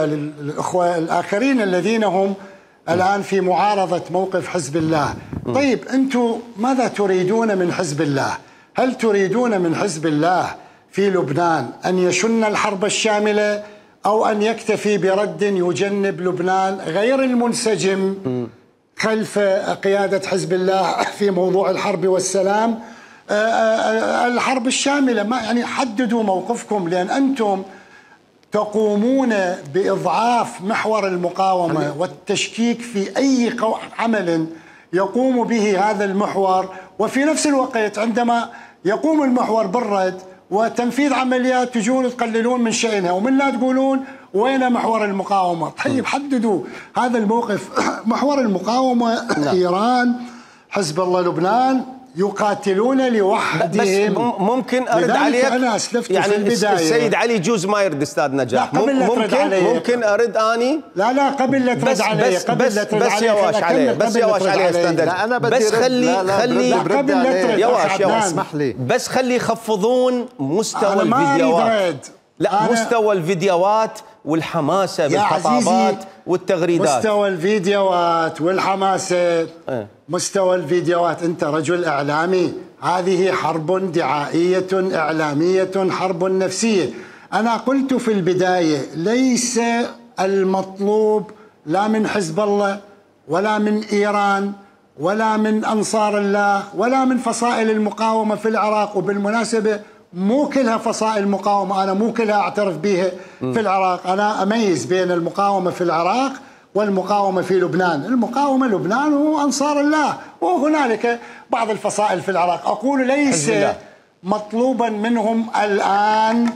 للأخوة الآخرين الذين هم الآن في معارضة موقف حزب الله. طيب أنتم ماذا تريدون من حزب الله؟ هل تريدون من حزب الله في لبنان أن يشن الحرب الشاملة أو أن يكتفي برد يجنب لبنان غير المنسجم خلف قيادة حزب الله في موضوع الحرب والسلام؟ الحرب الشاملة، ما يعني حددوا موقفكم، لأن أنتم تقومون بإضعاف محور المقاومة والتشكيك في أي عمل يقوم به هذا المحور، وفي نفس الوقت عندما يقوم المحور بالرد وتنفيذ عمليات تجون تقللون من شأنها، ومن لا تقولون وين محور المقاومة. طيب حددوا هذا الموقف. محور المقاومة إيران، حزب الله لبنان يقاتلون لوحدهم. بس ممكن ارد عليك، أنا أسلفت يعني في البداية. السيد علي يجوز ما يرد استاذ نجاح. ممكن ارد اني. لا قبل لا ترد علي، بس يواش عليه، بس يواش عليه استاذ. لا انا بدي بس خلي قبل لا ترد يواش اسمح لي، بس خلي يخفضون مستوى الفيديوهات. لا مستوى الفيديوهات والحماسه بالخطابات والتغريدات. مستوى الفيديوهات والحماسه، مستوى الفيديوهات. انت رجل اعلامي، هذه حرب دعائيه اعلاميه، حرب نفسيه. انا قلت في البدايه ليس المطلوب لا من حزب الله ولا من ايران ولا من انصار الله ولا من فصائل المقاومه في العراق. وبالمناسبه مو كلها فصائل مقاومة، أنا مو كلها أعترف بها في العراق. أنا أميز بين المقاومة في العراق والمقاومة في لبنان. المقاومة لبنان هو أنصار الله، وهنالك بعض الفصائل في العراق. أقول ليس مطلوبا منهم الآن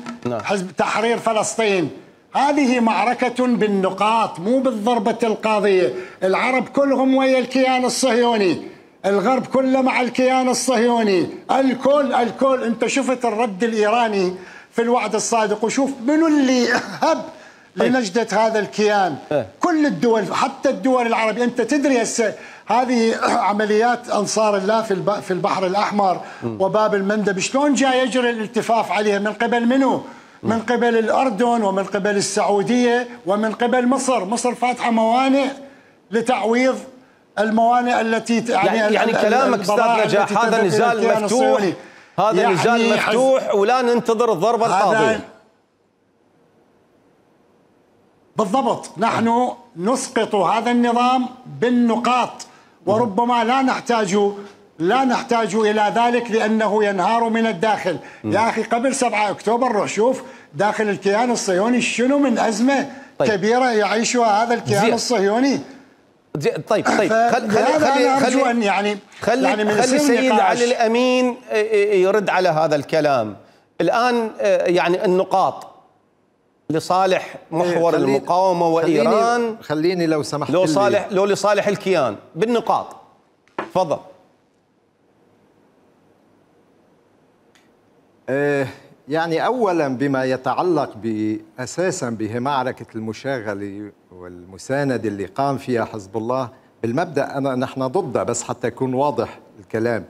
حزب تحرير فلسطين. هذه معركة بالنقاط مو بالضربة القاضية. العرب كلهم ويا الكيان الصهيوني، الغرب كله مع الكيان الصهيوني، الكل. انت شفت الرد الايراني في الوعد الصادق، وشوف منو اللي هب لنجدة هذا الكيان. كل الدول، حتى الدول العربية. انت تدري هسه هذه عمليات انصار الله في البحر الاحمر وباب المندب شلون جاي يجري الالتفاف عليها؟ من قبل منو؟ من قبل الاردن ومن قبل السعودية ومن قبل مصر. مصر فاتحة موانئ لتعويض الموانئ التي يعني كلامك استاذ نجاح هذا نزال مفتوح، هذا يعني نزال مفتوح ولا ننتظر الضربة القاضية. بالضبط، نحن نسقط هذا النظام بالنقاط، وربما لا نحتاج إلى ذلك لأنه ينهار من الداخل. يا أخي قبل 7 أكتوبر روح شوف داخل الكيان الصهيوني شنو من أزمة كبيرة يعيشها هذا الكيان الصهيوني. طيب خلي السيد علي الأمين يرد على هذا الكلام الآن. يعني النقاط لصالح محور المقاومة وإيران، خليني لو سمحت لو لصالح الكيان بالنقاط. تفضل. يعني أولا بما يتعلق أساسا بمعركة المشاغلة والمساندة اللي قام فيها حزب الله، بالمبدأ نحن ضدها، بس حتى يكون واضح الكلام،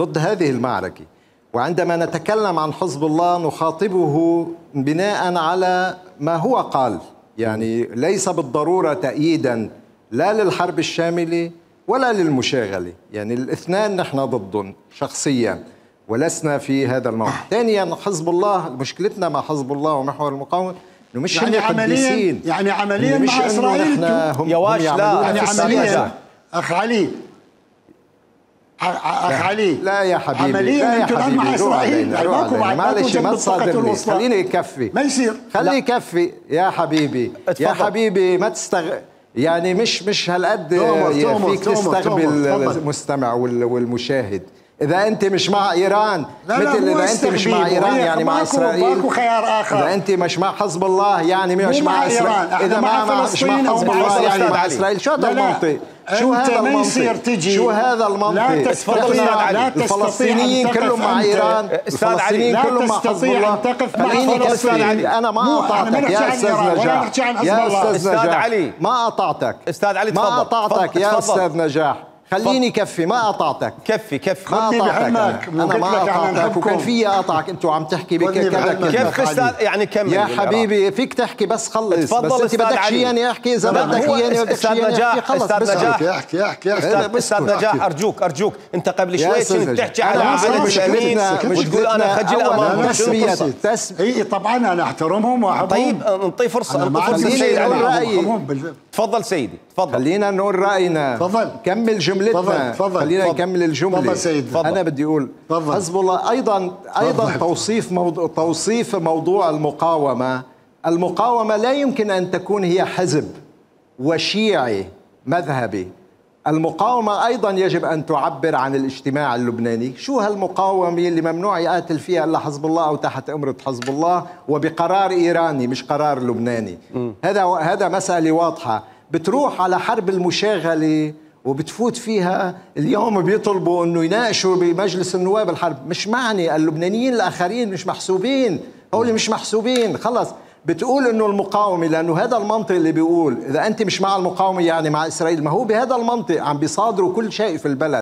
ضد هذه المعركة. وعندما نتكلم عن حزب الله نخاطبه بناء على ما هو قال، يعني ليس بالضرورة تأييدا لا للحرب الشاملة ولا للمشاغلة، يعني الاثنان نحن ضدهم شخصيا ولسنا في هذا الموقف. ثانيا حزب الله، مشكلتنا مع حزب الله ومحور المقاومة انه مش يعني قديسين، يعني عمليا مع اسرائيل يواش لا يعني عمليا اخ علي لا يا حبيبي، عمليا انتم الان مع اسرائيل. معلش ما تصادمني، خليني يكفي، ما يصير، خليه يكفي يا حبيبي. يا حبيبي ما يعني مش هالقد فيك تستغبي المستمع والمشاهد. إذا أنت مش مع إيران، مثل إذا أنت مش مع إيران يعني مع إسرائيل، ماكو خيار آخر. إذا أنت مش مع حزب الله يعني مش مع إسرائيل، إذا مش مع حزب الله يعني مع إسرائيل. شو هذا المنطق؟ شو هذا المنطق؟ شو هذا المنطق؟ الفلسطينيين كلهم مع إيران، الفلسطينيين كلهم مع حزب الله. خليني كفي، أنا ما قطعتك يا أستاذ نجاح. يا أستاذ علي ما قطعتك. أستاذ علي ما قطعتك يا أستاذ نجاح. خليني كفي، ما قطعتك. كفي ما قطعتك انا ما قطعتك، وكان في اقطعك انتوا عم تحكي بكذا كيف استاذ يعني كمل يا حبيبي فيك تحكي بس خلص. تفضل بس انت بدك شيء يعني احكي، اذا بدك يعني استاذ نجاح. استاذ نجاح استاذ نجاح ارجوك انت قبل شوي كنت تحكي على علي الامين وتقول انا خجل امامهم. اي طبعا انا احترمهم واحبهم. طيب انطي فرصه سيد علي. تفضل سيدي تفضل. خلينا نقول راينا. تفضل كمل جملتنا. خلينا نكمل الجمله. تفضل سيد. انا بدي اقول حزب الله ايضا توصيف موضوع المقاومه لا يمكن ان تكون هي حزب وشيعي مذهبي. المقاومة أيضا يجب أن تعبر عن الاجتماع اللبناني. شو هالمقاومة اللي ممنوع يقاتل فيها إلا حزب الله أو تحت أمرة حزب الله وبقرار إيراني مش قرار لبناني؟ هذا مسألة واضحة. بتروح على حرب المشاغلة وبتفوت فيها. اليوم بيطلبوا أنه يناقشوا بمجلس النواب الحرب. مش معني اللبنانيين الآخرين مش محسوبين، هؤلاء مش محسوبين خلص. بتقول انه المقاومه، لانه هذا المنطق اللي بيقول اذا انت مش مع المقاومه يعني مع اسرائيل. ما هو بهذا المنطق عم بيصادروا كل شيء في البلد.